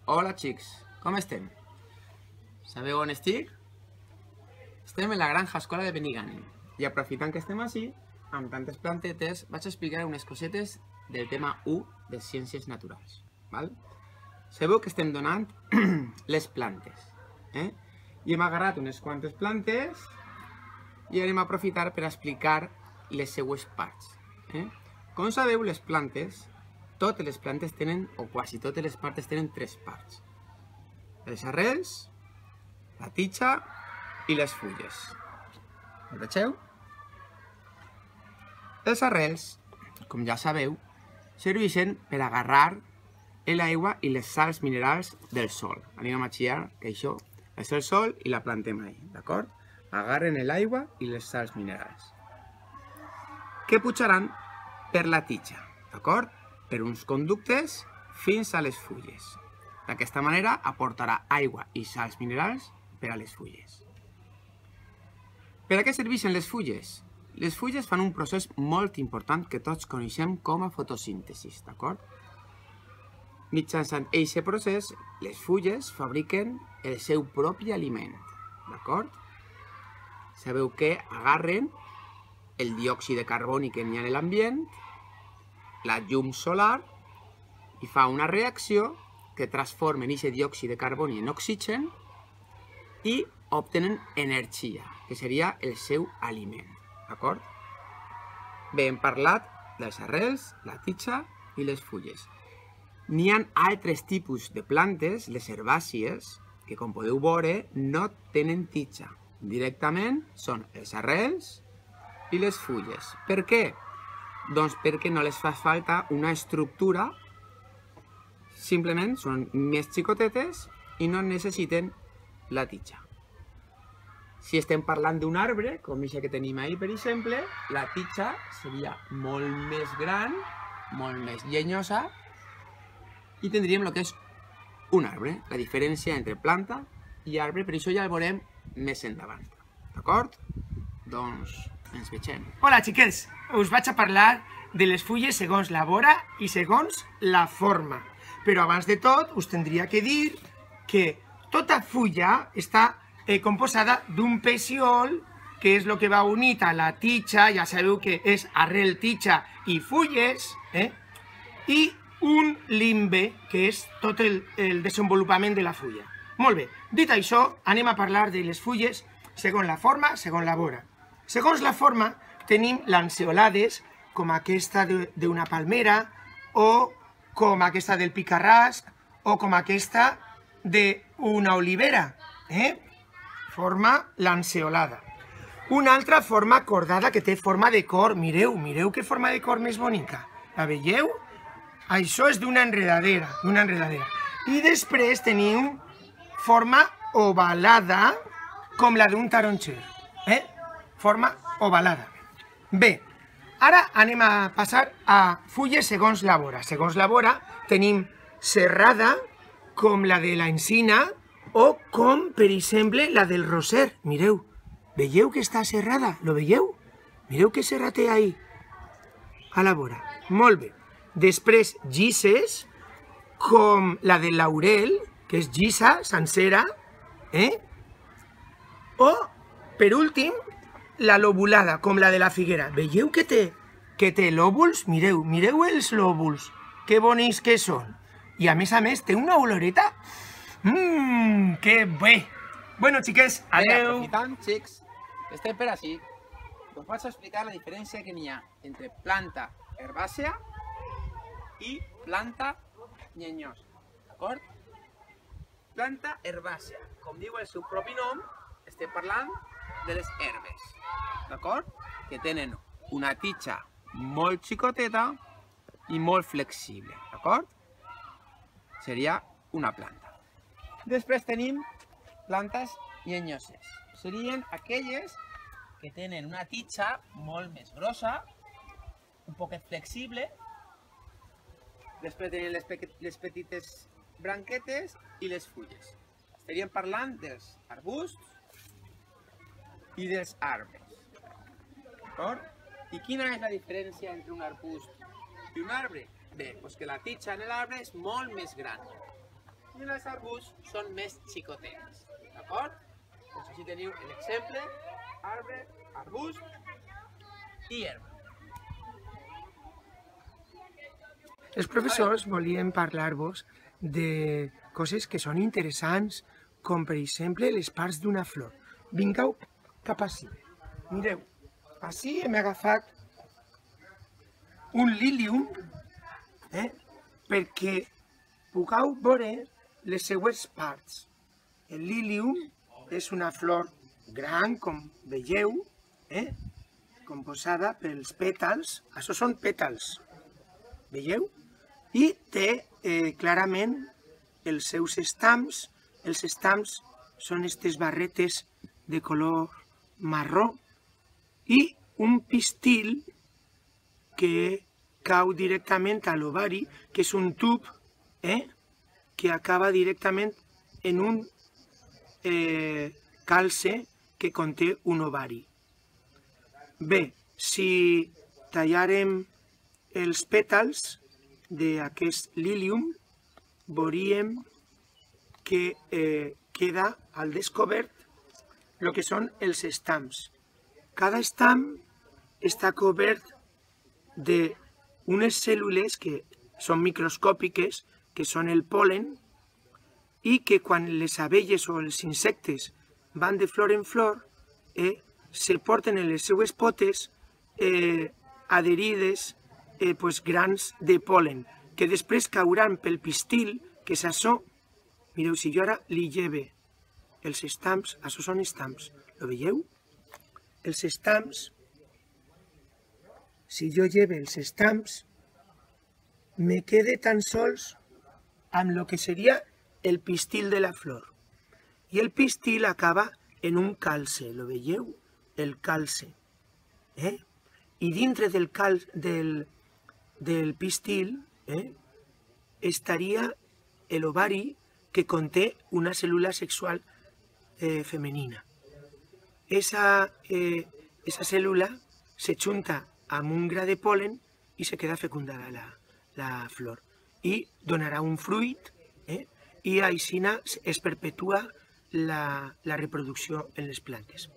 Hola xics, com estem? Sabeu on estic? Estem en la granja escola de Benigànim i aprofitant que estem així, amb tantes plantetes, vaig explicar unes cosetes del tema 1 de ciències naturals. Val? Sabeu que estem donant les plantes, i hem agarrat unes quantes plantes i anem a aprofitar per explicar les seues parts. Com sabeu, les plantes, totes les plantes tenen, o quasi totes les plantes tenen tres parts. Les arrels, la tija i les fulles. Ho vegeu? Les arrels, com ja sabeu, serveixen per agarrar l'aigua i les sals minerals del sol. Anem a imaginar que això és el sol i la plantem ahí, d'acord? Agarren l'aigua i les sals minerals, que pujaran per la tija, d'acord? Per uns conductes fins a les fulles. D'aquesta manera aportarà aigua i sals minerals per a les fulles. Per a què serveixen les fulles? Les fulles fan un procés molt important que tots coneixem com a fotosíntesi, d'acord? Mitjançant aquest procés, les fulles fabriquen el seu propi aliment, d'acord? Sabeu que agarren el diòxid de carboni que n'hi ha a l'ambient, la llum solar, i fa una reacció que transforma aquest diòxid de carboni en oxigen i obtenen energia, que seria el seu aliment, d'acord? Bé, hem parlat dels arrels, la tija i les fulles. N'hi ha altres tipus de plantes, les herbàcies, que com podeu veure no tenen tija. Directament són els arrels i les fulles. Per què? Doncs perquè no les fa falta una estructura, simplement són més xicotetes i no necessiten la tija. Si estem parlant d'un arbre, com això que tenim ahí, per exemple, la tija seria molt més gran, molt més llenyosa, i tindríem el que és un arbre, la diferència entre planta i arbre, per això ja el veurem més endavant. D'acord? Doncs ens vegem. Hola xiquets, us vaig a parlar de les fulles segons la vora i segons la forma. Però abans de tot us tindria que dir que tota fulla està composada d'un peciol, que és el que va unit a la tija, ja sabeu que és arrel, tija i fulles, i un limbe, que és tot el desenvolupament de la fulla. Molt bé, dit això, anem a parlar de les fulles segons la forma, segons la vora. Segons la forma, tenim lanceolades, com aquesta d'una palmera, o com aquesta del picarrasc, o com aquesta d'una olivera. Forma lanceolada. Una altra forma cordada que té forma de cor. Mireu, mireu que forma de cor més bonica. La veieu? Això és d'una enredadera, I després tenim forma ovalada, com la d'un taronxer. Forma ovalada. Bé, ara anem a passar a fulles segons la vora. Segons la vora tenim serrada, com la de l'encina, o com, per exemple, la del roser. Mireu, veieu que està serrada? Lo veieu? Mireu que serra té ahí, a la vora. Molt bé. Després, llisses, com la del laurel, que és llissa, sencera, o, per últim, la lobulada, com la de la figuera. Veieu que té lòbuls? Mireu, mireu els lòbuls, que bonics que són. I a més, té una oloreta. Que bé! Bueno, xiquets, adeu! Aprofitant, xics, que estem per així, us vaig explicar la diferència que n'hi ha entre planta herbàcia i planta llenyosa, d'acord? Planta herbàcia, com diu el seu propi nom, estem parlant de les herbes, d'acord? Que tenen una tija molt xicoteta i molt flexible, d'acord? Seria una planta. Després tenim plantes llenyoses. Serien aquelles que tenen una tija molt més grossa, un poquet flexible. Després tenen les petites branquetes i les fulles. Estaríem parlant dels arbusts i dels arbres. D'acord? I quina és la diferència entre un arbust i un arbre? Bé, doncs que la tija en l'arbre és molt més gran. i els arbusts són més xicotets, d'acord? Doncs així teniu l'exemple, arbre, arbust i herba. Els professors volien parlar-vos de coses que són interessants, com per exemple les parts d'una flor. Vingueu cap ací. Mireu, ací hem agafat un lilium, perquè pugueu veure les seues parts. El lilium és una flor gran, com veieu, composada pels pètals. Això són pètals, veieu? I té clarament els seus estams. Els estams són aquestes barretes de color marró i un pistil que cau directament a l'ovari, que és un tub que acaba directament en un calze que conté un ovari. Bé, si tallàrem els pètals d'aquest lilium, veuríem que queda al descobert el que són els estams. Cada estam està cobert d'unes cèl·lules que són microscòpiques, que són el pol·len, i que quan les abelles o els insectes van de flor en flor, se porten en les seues potes adherides grans de pol·len, que després cauran pel pistil, que és això. Mireu, si jo ara li lleve els estams, això són estams, ho veieu? Els estams, si jo lleve els estams, me quede tan sols amb el que seria el pistil de la flor. I el pistil acaba en un calze, ho veieu? El calze. I dintre del pistil estaria l'ovari que conté una cèl·lula sexual femenina. Esa cèl·lula se junta amb un gra de pol·len i se queda fecundada la flor. I donarà un fruit i així es perpetua la reproducció en les plantes.